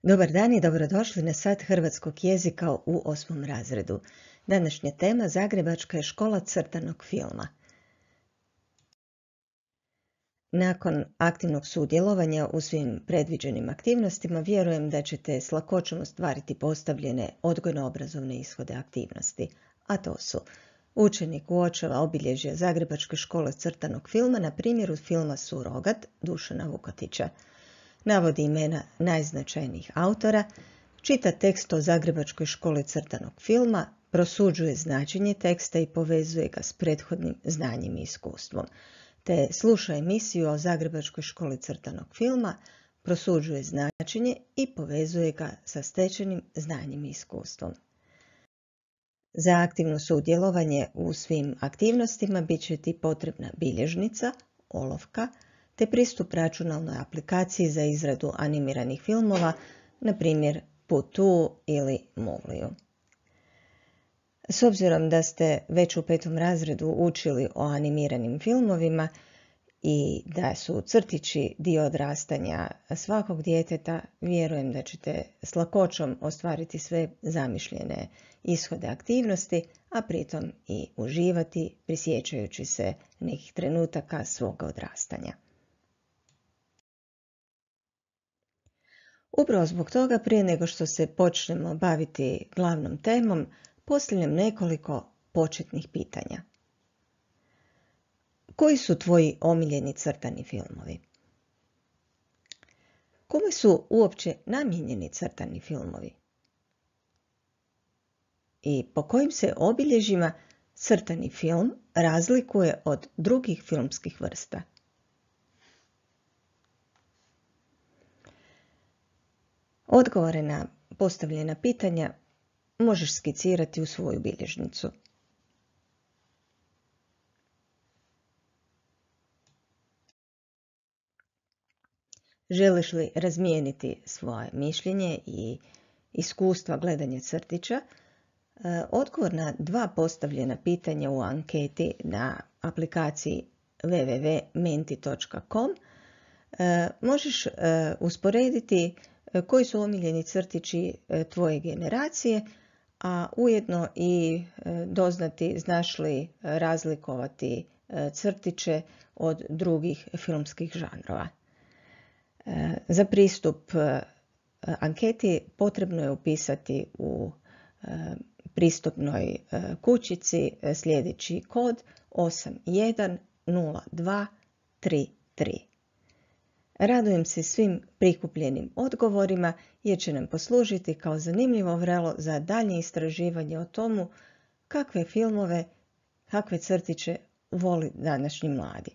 Dobar dan i dobrodošli na sat hrvatskog jezika u 8. razredu. Današnja tema Zagrebačka je škola crtanog filma. Nakon aktivnog sudjelovanja u svim predviđenim aktivnostima, vjerujem da ćete s lakoćom ostvariti postavljene odgojno-obrazovne ishode aktivnosti, a to su: učenik uočava obilježja Zagrebačke škole crtanog filma na primjeru filma Surogat Dušana Vukotića. Navodi imena najznačajnijih autora, čita tekst o Zagrebačkoj školi crtanog filma, prosuđuje značenje teksta i povezuje ga s prethodnim znanjem i iskustvom, te sluša emisiju o Zagrebačkoj školi crtanog filma, prosuđuje značenje i povezuje ga sa stečenim znanjem i iskustvom. Za aktivno sudjelovanje u svim aktivnostima bit će ti potrebna bilježnica, olovka, te pristup računalnoj aplikaciji za izradu animiranih filmova, na primjer Putu ili Movliju. S obzirom da ste već u 5. razredu učili o animiranim filmovima i da su crtići dio odrastanja svakog djeteta, vjerujem da ćete s lakoćom ostvariti sve zamišljene ishode aktivnosti, a pritom i uživati prisjećajući se nekih trenutaka svoga odrastanja. Upravo zbog toga, prije nego što se počnemo baviti glavnom temom, postavljam nekoliko početnih pitanja. Koji su tvoji omiljeni crtani filmovi? Kome su uopće namijenjeni crtani filmovi? I po kojim se obilježjima crtani film razlikuje od drugih filmskih vrsta? Odgovore na postavljena pitanja možeš skicirati u svoju bilježnicu. Želiš li razmijeniti svoje mišljenje i iskustva gledanja crtića? Odgovor na 2 postavljena pitanja u anketi na aplikaciji www.menti.com možeš usporediti koji su omiljeni crtići tvoje generacije, a ujedno i doznati znaš li razlikovati crtiće od drugih filmskih žanrova. Za pristup anketi potrebno je upisati u pristupnoj kućici sljedeći kod 810233. Radujem se svim prikupljenim odgovorima jer će nam poslužiti kao zanimljivo vrelo za daljnje istraživanje o tomu kakve filmove, kakve crtiće voli današnji mladi.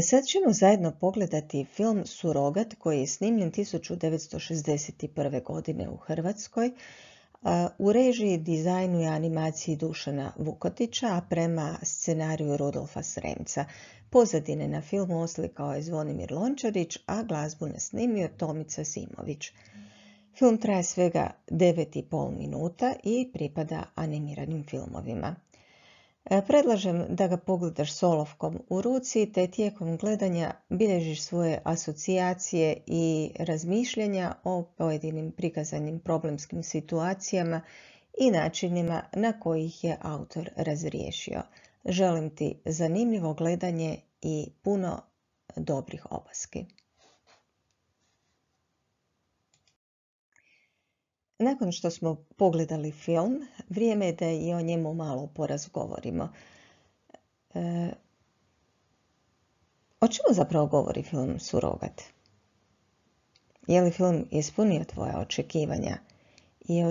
Sad ćemo zajedno pogledati film Surogat koji je snimljen 1961. godine u Hrvatskoj u režiji, dizajnu i animaciji Dušana Vukotića, a prema scenariju Rudolfa Sremca. Pozadine na filmu oslikao je Zvonimir Lončarić, a glazbu nasnimio Tomica Simović. Film traje svega 9,5 minuta i pripada animiranim filmovima. Predlažem da ga pogledaš s olovkom u ruci, te tijekom gledanja bilježiš svoje asocijacije i razmišljanja o pojedinim prikazanim problemskim situacijama i načinima na koji ih je autor razriješio. Želim ti zanimljivo gledanje i puno dobrih opaski. Nakon što smo pogledali film, vrijeme je da i o njemu malo porazgovorimo. O čemu zapravo govori film Surogat? Je li film ispunio tvoja očekivanja? I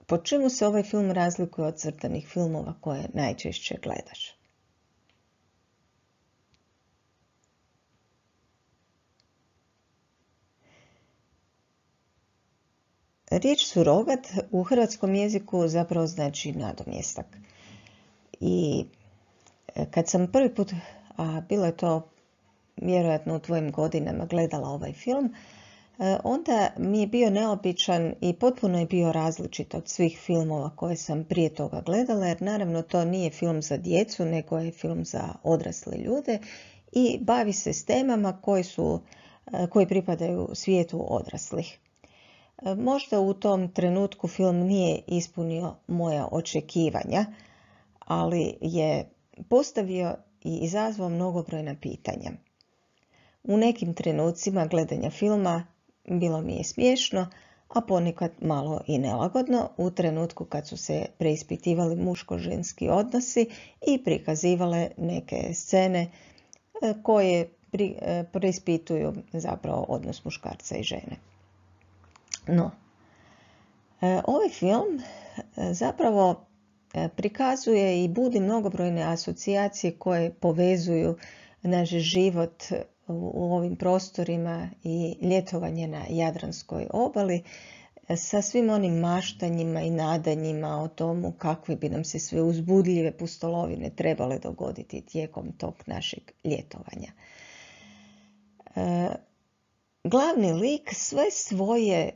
po čemu se ovaj film razlikuje od crtanih filmova koje najčešće gledaš? Riječ surogat u hrvatskom jeziku zapravo znači nadomjestak. I kad sam prvi put, a bilo je to vjerojatno u tvojim godinama, gledala ovaj film, onda mi je bio neobičan i potpuno je bio različit od svih filmova koje sam prije toga gledala, jer naravno to nije film za djecu, nego je film za odrasle ljude i bavi se s temama koje su koji pripadaju svijetu odraslih. Možda u tom trenutku film nije ispunio moja očekivanja, ali je postavio i izazvao mnogobrojna pitanja. U nekim trenucima gledanja filma bilo mi je smiješno, a ponekad malo i nelagodno u trenutku kad su se preispitivali muško-ženski odnosi i prikazivale neke scene koje preispituju zapravo odnos muškarca i žene. No, ovaj film zapravo prikazuje i budi mnogobrojne asocijacije koje povezuju naš život u ovim prostorima i ljetovanje na Jadranskoj obali sa svim onim maštanjima i nadanjima o tomu kakve bi nam se sve uzbudljive pustolovine trebale dogoditi tijekom tog našeg ljetovanja. Glavni lik sve svoje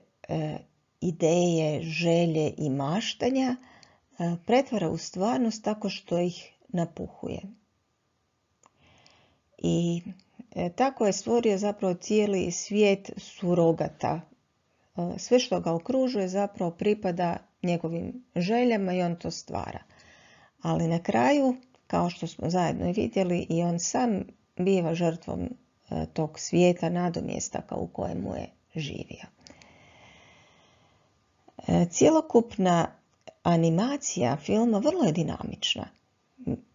ideje, želje i maštanja pretvara u stvarnost tako što ih napuhuje. I tako je stvorio zapravo cijeli svijet surogata. Sve što ga okružuje zapravo pripada njegovim željama i on to stvara. Ali na kraju, kao što smo zajedno i vidjeli, i on sam biva žrtvom tog svijeta nadomjestaka u kojemu je živio. Cjelokupna animacija filma vrlo je dinamična.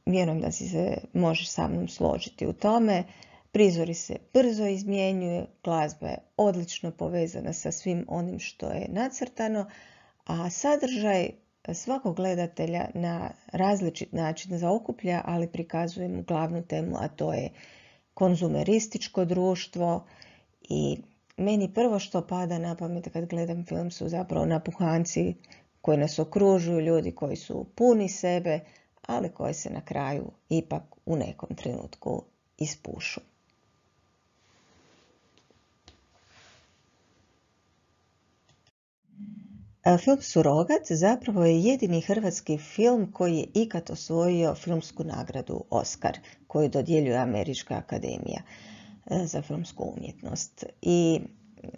Vjerujem da se možeš sa mnom složiti u tome. Prizori se brzo izmjenjuju, glazba je odlično povezana sa svim onim što je nacrtano, a sadržaj svakog gledatelja na različit način zaokuplja, ali prikazuje mu glavnu temu, a to je konzumerističko društvo. I meni prvo što pada na pamet kad gledam film su zapravo napuhanci koji nas okružuju, ljudi koji su puni sebe, ali koji se na kraju ipak u nekom trenutku ispušu. Film Surogat zapravo je jedini hrvatski film koji je ikad osvojio filmsku nagradu Oskar, koju dodjeljuje Američka akademija za filmsku umjetnost. I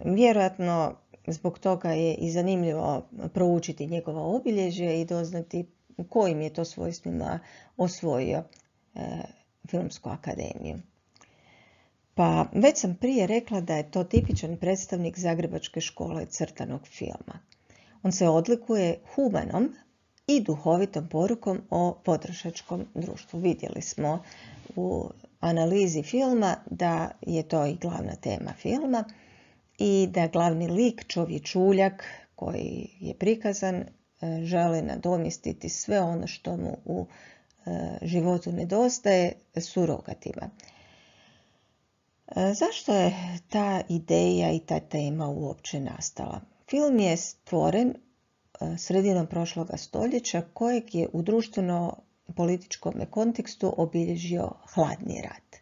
vjerojatno zbog toga je i zanimljivo proučiti njegova obilježje i doznati kojim je to svojstvima osvojio filmsku akademiju. Pa već sam prije rekla da je to tipičan predstavnik Zagrebačke škole crtanog filma. On se odlikuje humanom i duhovitom porukom o potrošačkom društvu. Vidjeli smo u analizi filma da je to i glavna tema filma i da glavni lik, čovječuljak koji je prikazan, želi nadomjestiti sve ono što mu u životu nedostaje surogatima. Zašto je ta ideja i ta tema uopće nastala? Film je stvoren sredinom prošloga stoljeća kojeg je u društveno-političkom kontekstu obilježio hladni rat.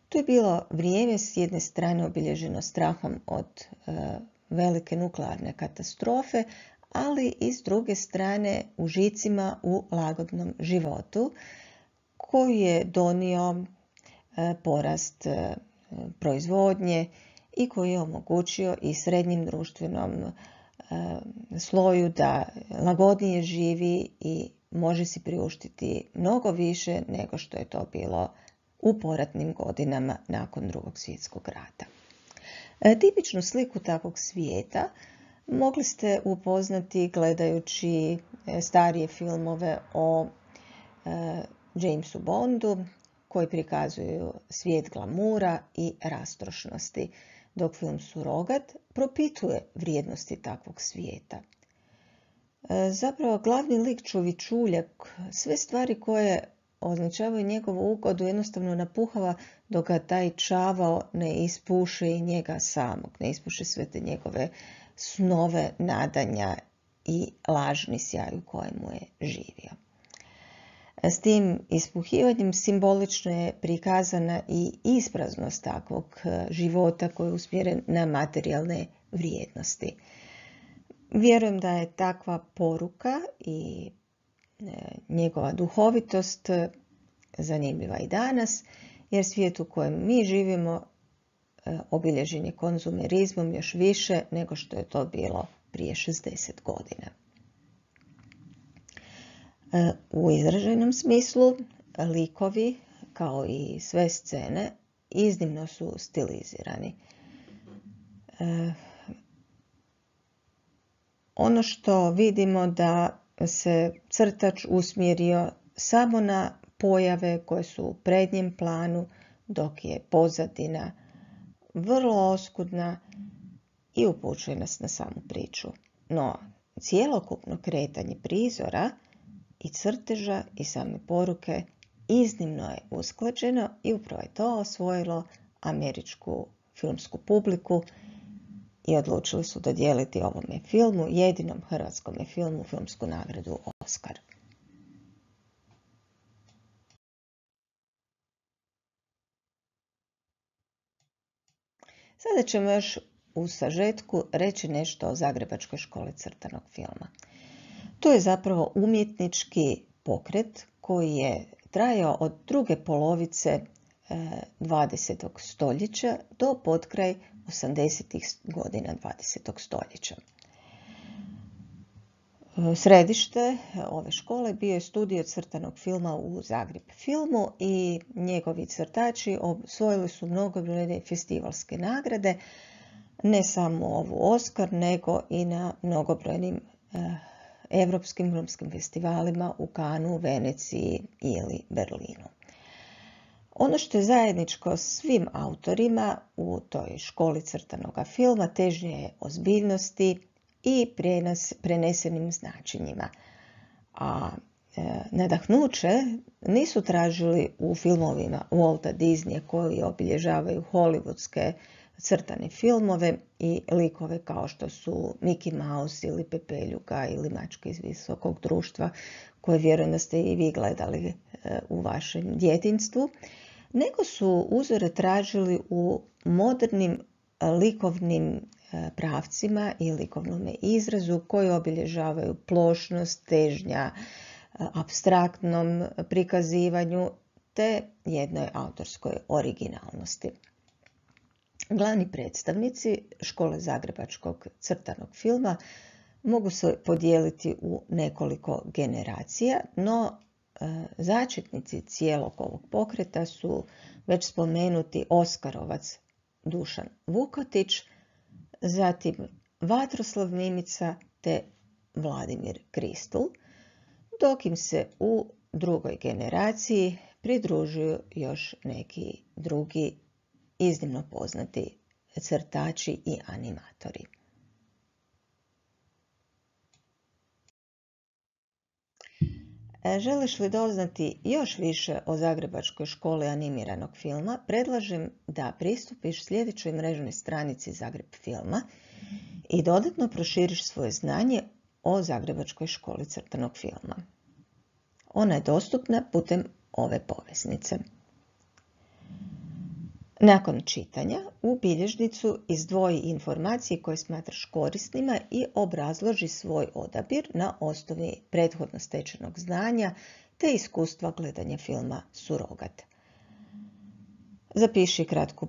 To je bilo vrijeme s jedne strane obilježeno strahom od velike nuklearne katastrofe, ali i s druge strane užicima u lagodnom životu koji je donio porast proizvodnje i koji je omogućio i srednjim društvenom sloju da lagodnije živi i može si priuštiti mnogo više nego što je to bilo u poratnim godinama nakon Drugog svjetskog rata. Tipičnu sliku takvog svijeta mogli ste upoznati gledajući starije filmove o Jamesu Bondu koji prikazuju svijet glamura i rastrošnosti, dok film Surogat propituje vrijednosti takvog svijeta. Zapravo glavni lik čovječuljak sve stvari koje označavaju njegovu ugodu jednostavno napuhava dok ga taj čavao ne ispuše i njega samog, ne ispuše sve te njegove snove, nadanja i lažni sjaj u kojemu je živio. S tim ispuhivanjem simbolično je prikazana i ispraznost takvog života koji je usmjeren na materijalne vrijednosti. Vjerujem da je takva poruka i njegova duhovitost zanimljiva i danas, jer svijet u kojem mi živimo obilježen je konzumerizmom još više nego što je to bilo prije 60 godina. U izraženom smislu, likovi, kao i sve scene, iznimno su stilizirani. Ono što vidimo da se crtač usmjerio samo na pojave koje su u prednjem planu, dok je pozadina vrlo oskudna i upućuje nas na samu priču. No, cjelokupno kretanje prizora i crteža i same poruke iznimno je usklađeno i upravo je to osvojilo američku filmsku publiku i odlučili su dodijeliti ovome filmu, jedinom hrvatskom filmu, filmsku nagradu Oskar. Sada ćemo još u sažetku reći nešto o Zagrebačkoj školi crtanog filma. To je zapravo umjetnički pokret koji je trajao od druge polovice 20. stoljeća do potkraj 80. godina 20. stoljeća. Središte ove škole bio je studio crtanog filma u Zagreb filmu i njegovi crtači osvojili su mnogobrojne festivalske nagrade, ne samo ovu Oskar, nego i na mnogobrojnim europskim filmskim festivalima u Cannesu, Veneciji ili Berlinu. Ono što je zajedničko svim autorima u toj školi crtanoga filma težnje je ozbiljnosti i prenesenim značenjima. A nadahnuće nisu tražili u filmovima Walta Disneya koji obilježavaju hollywoodske crtane filmove i likove kao što su Mickey Mouse ili Pepeljuga ili Mačke iz visokog društva, koje vjerujem da ste i vi gledali u vašem djetinjstvu, nego su uzore tražili u modernim likovnim pravcima i likovnom izrazu koji obilježavaju plošnost, težnja, apstraktnom prikazivanju te jednoj autorskoj originalnosti. Glavni predstavnici škole Zagrebačkog crtanog filma mogu se podijeliti u nekoliko generacija, no začetnici cijelog ovog pokreta su već spomenuti Oskarovac Dušan Vukotić, zatim Vatroslav Mimica te Vladimir Kristul, dok im se u drugoj generaciji pridružuju još neki drugi iznimno poznati crtači i animatori. Želiš li doznati još više o Zagrebačkoj školi animiranog filma, predlažem da pristupiš sljedećoj mrežnoj stranici Zagreb filma i dodatno proširiš svoje znanje o Zagrebačkoj školi crtanog filma. Ona je dostupna putem ove poveznice. Nakon čitanja, u bilježnicu izdvoji informacije koje smatraš korisnima i obrazloži svoj odabir na osnovi prethodno stečenog znanja te iskustva gledanja filma Surogat. Zapiši kratku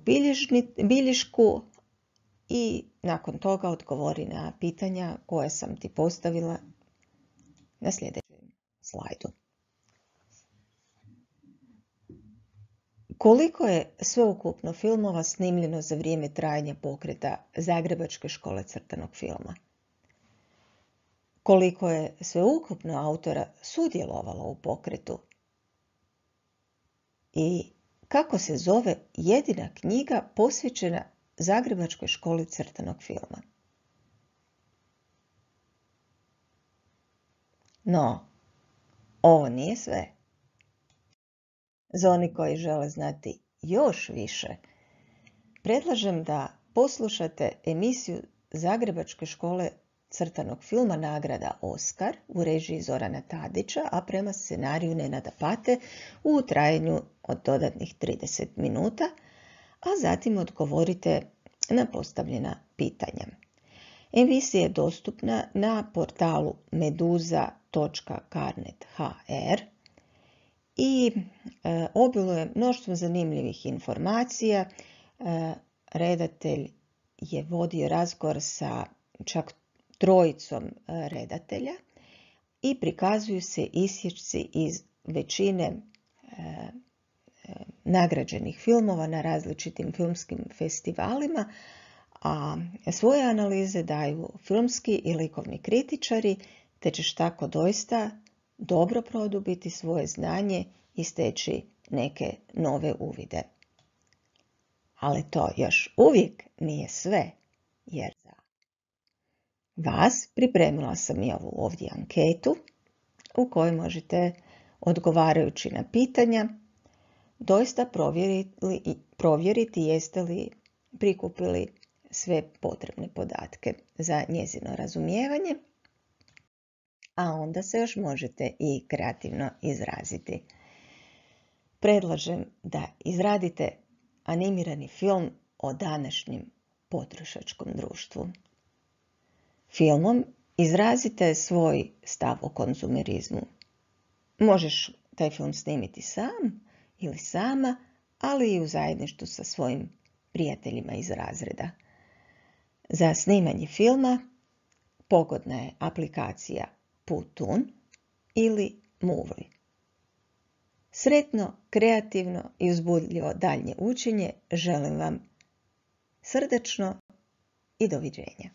bilješku i nakon toga odgovori na pitanja koje sam ti postavila na sljedećem slajdu. Koliko je sveukupno filmova snimljeno za vrijeme trajanja pokreta Zagrebačke škole crtanog filma? Koliko je sveukupno autora sudjelovalo u pokretu? I kako se zove jedina knjiga posvećena Zagrebačkoj školi crtanog filma? No, ovo nije sve. Za oni koji žele znati još više, predlažem da poslušate emisiju Zagrebačke škole crtanog filma nagrada Oskar u režiji Zorana Tadića, a prema scenariju Nenada Pate u trajanju od dodatnih 30 minuta, a zatim odgovorite na postavljena pitanja. Emisija je dostupna na portalu meduza.carnet.hr i obiluje mnoštvom zanimljivih informacija, redatelj je vodio razgovor sa čak 3 redatelja i prikazuju se isječci iz većine nagrađenih filmova na različitim filmskim festivalima, a svoje analize daju filmski i likovni kritičari, te ćeš tako doista dobro produbiti svoje znanje i steći neke nove uvide. Ali to još uvijek nije sve, jer za vas pripremila sam i ovu ovdje anketu u kojoj možete, odgovarajući na pitanja, doista provjeriti jeste li prikupili sve potrebne podatke za njezino razumijevanje, a onda se još možete i kreativno izraziti. Predlažem da izradite animirani film o današnjem potrošačkom društvu. Filmom izrazite svoj stav o konzumerizmu. Možeš taj film snimiti sam ili sama, ali i u zajedništvu sa svojim prijateljima iz razreda. Za snimanje filma pogodna je aplikacija Putun ili Movly. Sretno, kreativno i uzbudljivo daljnje učenje želim vam srdačno i doviđenja.